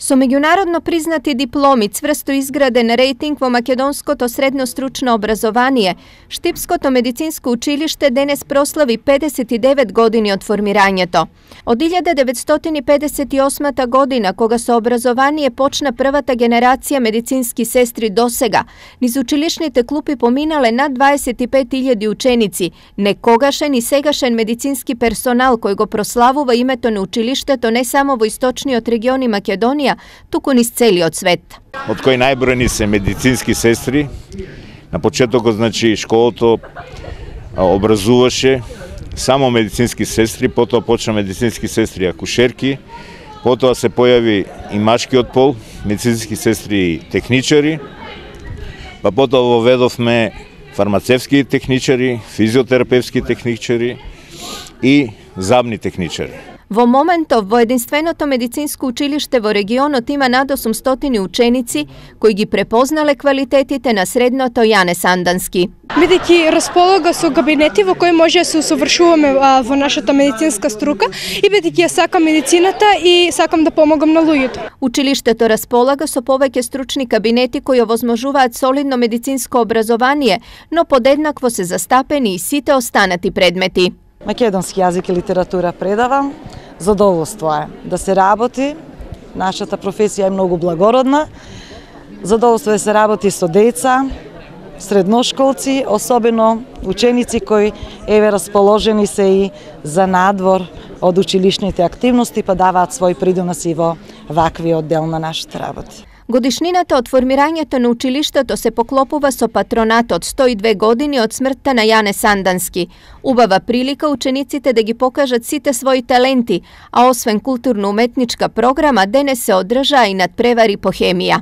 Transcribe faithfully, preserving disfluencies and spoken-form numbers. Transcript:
Со меѓународно признати дипломи, цврсто изграден рейтинг во македонското средно стручно образование, Штипското медицинско училиште денес прослави педесет и девет години од формирањето. Од илјада деветстотини педесет и осма година, кога со образование почна првата генерација медицински сестри досега, низ училишните клупи поминале над дваесет и пет илјади ученици, некогашен и сегашен медицински персонал кој го прославува името на училиштето не само во источниот регион и Македонија, туку низ целиот свет. Од кои најбројни се медицински сестри. На почетокот, значи, школото образуваше само медицински сестри, потоа почна медицински сестри акушерки, потоа се појави и машкиот пол, медицински сестри и техничари, па потоа воведовме фармацевски техничари, физиотерапевски техничари и забни техничари. Во моментов во единственото медицинско училиште во регионот има над осумстотини ученици кои ги препознале квалитетите на средното Јане Сандански. Бидејќи располага со кабинети во кои може да се усовршуваме во нашата медицинска струка и бидејќи ја сакам медицината и сакам да помогам на луѓето. Училиштето располага со повеќе стручни кабинети кои овозможуваат солидно медицинско образование, но подеднакво се застапени и сите останати предмети. Македонски јазик и литература предавам. Задоволство е да се работи. Нашата професија е многу благородна. Задоволство е да се работи со деца, средношколци, особено ученици кои еве расположени се и за надвор од училишните активности, па даваат свој придонос и во ваквиот дел на нашите работи. Годишнината од формирањето на училиштето се поклопува со патронатот сто и две години од смртта на Јане Сандански. Убава прилика учениците да ги покажат сите своји таленти, а освен културно-уметничка програма, денес се одржаа и надпревари по хемија.